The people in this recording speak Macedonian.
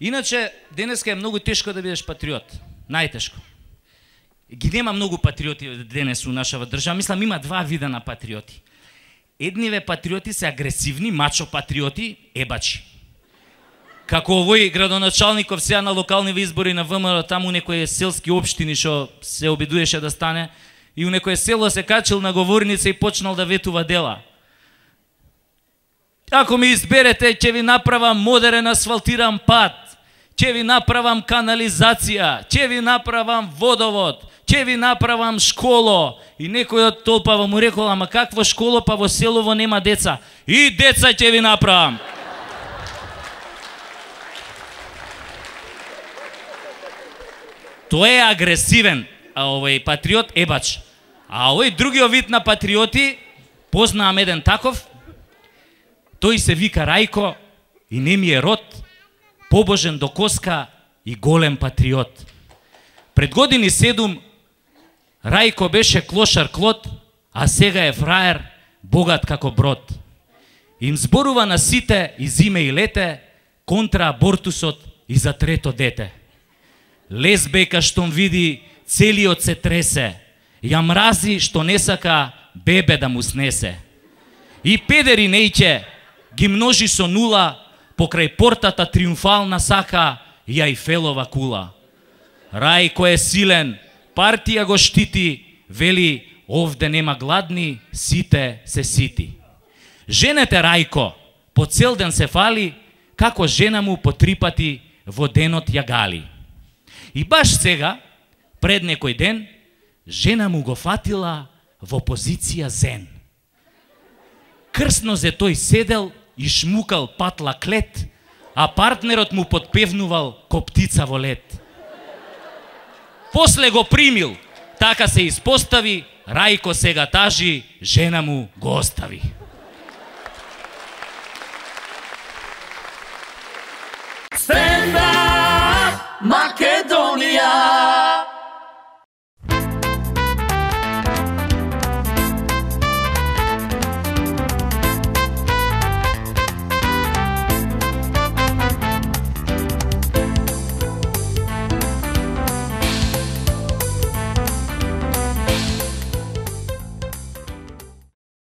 Иначе, денеска е многу тешко да бидеш патриот. Најтешко. Ги нема многу патриоти денес у нашава држава. Мислам, има два вида на патриоти. Едниве патриоти се агресивни, мачо патриоти, ебачи. Како овој градоначалников сега на локалниве избори на ВМРО, таму некои селски општини што се обидуеше да стане, и у некое село се качил на говорница и почнал да ветува дела. Ако ме изберете, ќе ви направам модерен асфалтиран пат, ќе ви направам канализација, ќе ви направам водовод, ќе ви направам школо. И некој од толпава му рекол, ама какво школо, па во селово нема деца. И деца ќе ви направам. Тој е агресивен, а овој патриот ебач. А овој другиот вид на патриоти, познавам еден таков, тој се вика Рајко и не ми е род, побожен до коска и голем патриот. Пред години 7 Рајко беше клошар клот, а сега е фраер, богат како брод. Им зборува на сите и зиме и лете, контра абортусот и за трето дете. Лесбека штом види, целиот се тресе, ја мрази што не сака бебе да му снесе. И педери нејќе ги множи со нула, покрај портата триумфална сака и Ајфелова кула. Рајко е силен, партија го штити, вели овде нема гладни, сите се сити. Женете Рајко по цел ден се фали, како жена му по 3 пати во денот ја гали. И баш сега, пред некој ден, жена му го фатила во позиција зен. Крсно зе тој седел и шмукал патла клет, а партнерот му подпевнувал ко птица во лет. После го примил, така се испостави, Рајко сега тажи, жена му го остави. Stand up, Македонија!